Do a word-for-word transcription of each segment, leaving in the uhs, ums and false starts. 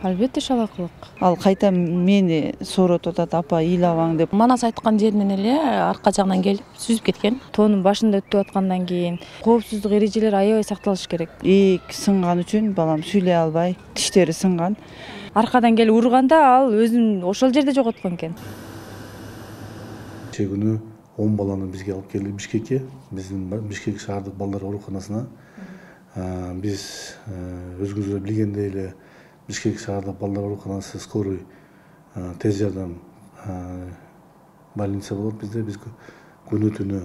Албетте шалакылык. Ал кайта мени сооротуп атат, апа ыйлабаң деп. Манас айткан жеринен эле арка жагынан келип сүзүп кеткен. Тоонун башында өтүп аткандан кийин коопсуздук эрежелери аябай сакталыш керек. Ийик сынган үчүн балам сүйлөй албай, тиштери сынган. Аркадан келип урганда ал өзүн ошол жерде жоготкон экен. Кечээ күнү он баланы бизге алып келди Бишкекке, биздин Бишкек шаардык балдар ооруканасына. Биз өзүңүз эле билгендей эле Бишкек шаардык балдар ооруканасы скорый тез жардам больница болот бизде. Биз күнү түнү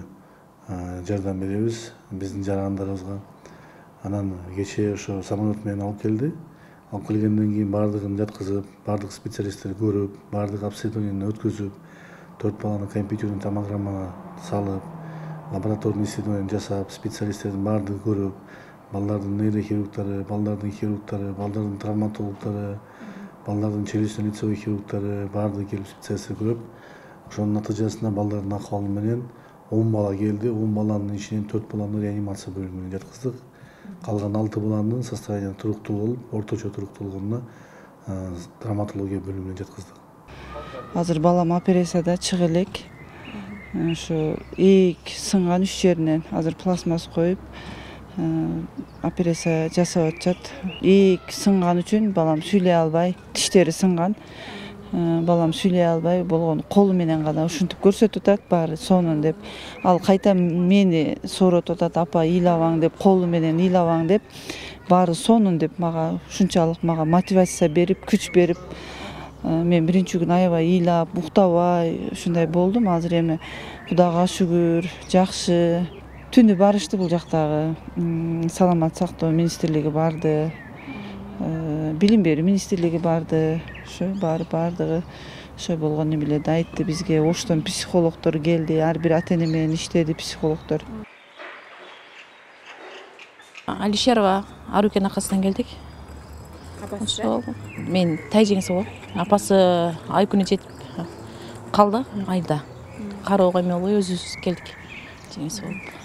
жардам беребиз биздин жарагандарыбызга. Анан кечээ ошо самолет менен алып келди. Алып келгенден кийин баардыгын жаткызып, баардык специалисттер көрүп, баардык обследованияны өткөзүп, төрт баланы компьютерный томограммага салып, лабораторный исследование жасап, специалисттердин баардыгын көрүп, балдардын нейрохирургтары, балдардын хирургтары, балдардын травматологдору, балдардын челюстно-лицевой хирургтары баардыгы келип специалисттер көрүп, ошонун натыйжасында балдардын акыбалы менен он бала келди. он баланын ичинен төрт баланы реанимация бөлүмүнө жаткыздык. Калган алты баланын состояние туруктуу болуп, орточо туруктуу болгонуна травматология бөлүмүнө жаткыздык. Азыр балам операцияда чыга элек. Ошо ийик сынган үч жеринен азыр пластмасс коюп операция жасап атышат. Ийик сынган үчүн балам сүйлөй албай, тиштери сынган. Балам сүйлөй албай болгон, колу менен гана ушинтип көрсөтүп атат баары сонун деп. Ал кайта мени сооротуп атат, апа ыйлабаң деп, колу менен ыйлабаң деп, баары сонун деп мага ушунчалык мага мотивация берип, күч берип, мен биринчи күнү аябай ыйлап, уктабай ушундай болдум. Азыр эми Кудайга шүгүр, жакшы. Түнү барышты бул жактагы саламат сактоо министрлиги барды, билим берүү министрлиги барды, ошо баары баардыгы ошо болгону эле да айтты бизге. Оштон психологдор келди, ар бир ата эне менен иштеди психологдор. Алишерова Арукенин аркасынан келдик. Апасы мен тай жеңиси болот. Апасы ай күнү жетип калды айда. Кароого эме болбой өзүбүз келдик. Жеңиси болуп.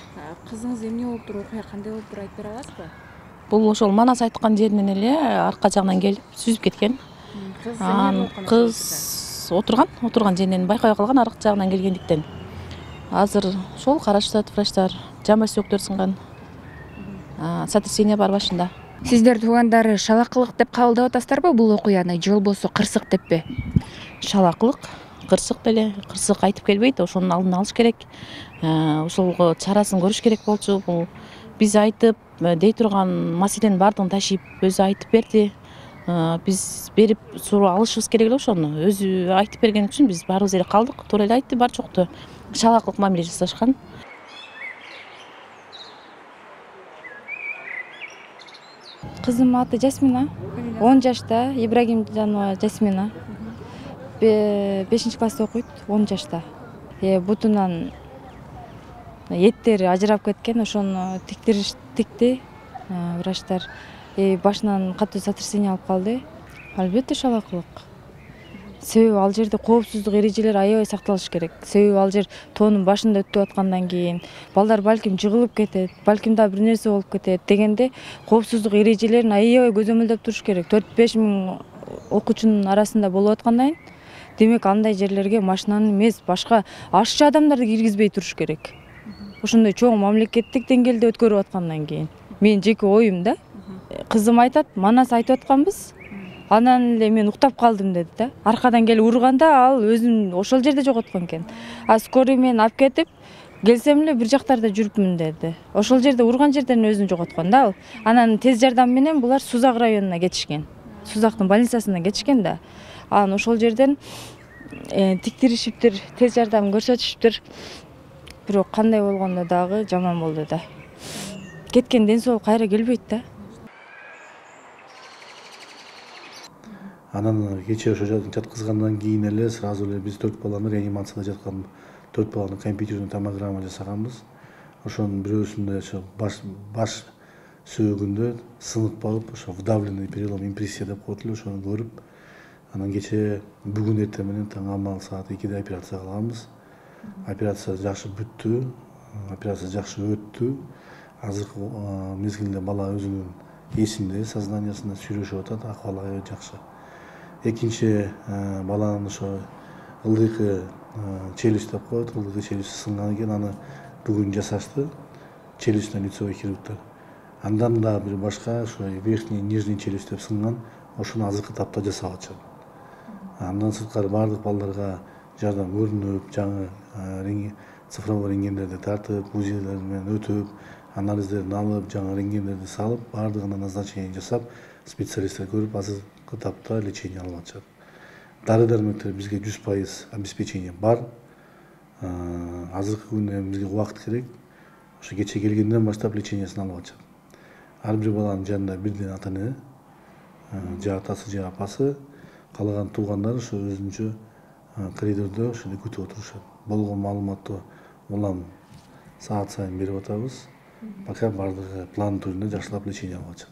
Кызыңыз эмне болуп туруп, окуя кандай болуп туруп айтып бере аласызбы? Бул ошол Манас айткан жеринен эле арка жагынан келип сүзүп кеткен. Кыз отурган, отурган жеринен байкабай калган арка жагынан келгендиктен. Азыр ошол карашып атат врачтар, жамбас сөөктөр сынган. Сотрясение бар башында. Сиздер туугандары шалакылык деп кабылдап атасыздарбы бул окуяны, же болбосо кырсык деппи? Шалакылык, кырсык деле, кырсык айтып келбейт, ошонун алдын алыш керек. Ошолго чарасын көрүш керек болчу. Бул биз айтып дей турган маселенин баардыгын ташып өзү айтып берди. Биз берип суроо алышыбыз керек эле ошону. Өзү айтып берген үчүн биз баарыбыз эле калдык. Туура эле айтты, бар жокту шалакылык мамиле жасашкан. Кызымдын аты Жасмина, он жашта, Ибрагимжанова Жасмина. бешинчи класста окуйт, он жашта. Бутунан эттери ажырап кеткен, ошону тиктириш тикти врачтар. Башынан катуу сотрясение алып калды. Албетте шалакылык. Себеби ал жерде коопсуздук эрежелери аябай сакталыш керек. Себеби ал жер тоонун башында өтүп аткандан кийин балдар балким жыгылып кетет, балким да бир нерсе болуп кетет дегенде коопсуздук эрежелерин аябай көзөмөлдөп туруш керек. төрт беш миң окуучунун арасында болуп аткандан кийин, демек андай жерлерге машинаны эмес, башка ашчы адамдарды киргизбей туруш керек. Ошондой чоң мамлекеттик деңгээлде өткөрүп аткандан кийин. Менин жеке оюм да. Кызым айтат, Манас айтып атканбыз. Анан эле мен уктап калдым деди да. Аркадан келип урганда ал өзүн ошол жерде жоготкон экен. А скорый менен алып кетип, келсем эле бир жактарда жүрүпмүн деди. Ошол жерде урган жерден өзүн жоготкон да ал. Анан тез жардам менен булар Сузак районуна кетишкен. Сузактын больницасына кетишкен да. Анан ошол жерден тиктиришиптир, тез жардам көрсөтүшүптүр. Бирок кандай болгондо дагы жаман болду да. Кеткен ден соолук кайра келбейт да. Анан кечээ ошо жаткызгандан кийин эле сразу эле биз төрт баланы реанимацияда жаткан төрт баланы компьютерный томограмма жасаганбыз. Ошонун бирөөсүндө ошо баш баш сөөгүндө сынып калып, ошо вдавленный перелом импрессия деп коет эле, ошону көрүп, анан кечээ бүгүн эртең менен таң амал саат экиде операция кылганбыз. Операция жакшы бүттү, операция жакшы өттү. Азыркы мезгилде бала өзүнүн эсинде, сознаниясында сүйлөшүп атат, акыбалы аябай жакшы. экинчи баланын ошо ылдыйкы челюсть деп коет, ылдыйкы челюсть сынган экен, аны бүгүн жасашты, челюстьтен лицевой хирургтар. Андан да бир башка ошо верхний нижний челюсть деп сынган, ошону азыркы тапта жасап атышат. Андан сырткары баардык балдарга жардам көрүнүп, жаңы цифровой рентгендерди тартып, УЗИлер менен өтүп, анализдерин алып, жаңы рентгендерди салып, баардыгына назначение жасап, специалисттер көрүп, азыркы тапта лечение алып атышат. Дары дармектер бизге жүз пайыз обеспечение бар. Азыркы күндө бизге убакыт керек. Ошо кече келгенден баштап лечениесин алып атышат. Ар бир баланын жанында бирден ата эне, же атасы же апасы, калган туугандар ошо өзүнчө коридордо ошондо күтүп отурушат. Болгон маалыматты улам саат сайын берип атабыз. Пока баардыгы план түрүндө жакшылап лечение алып атышат.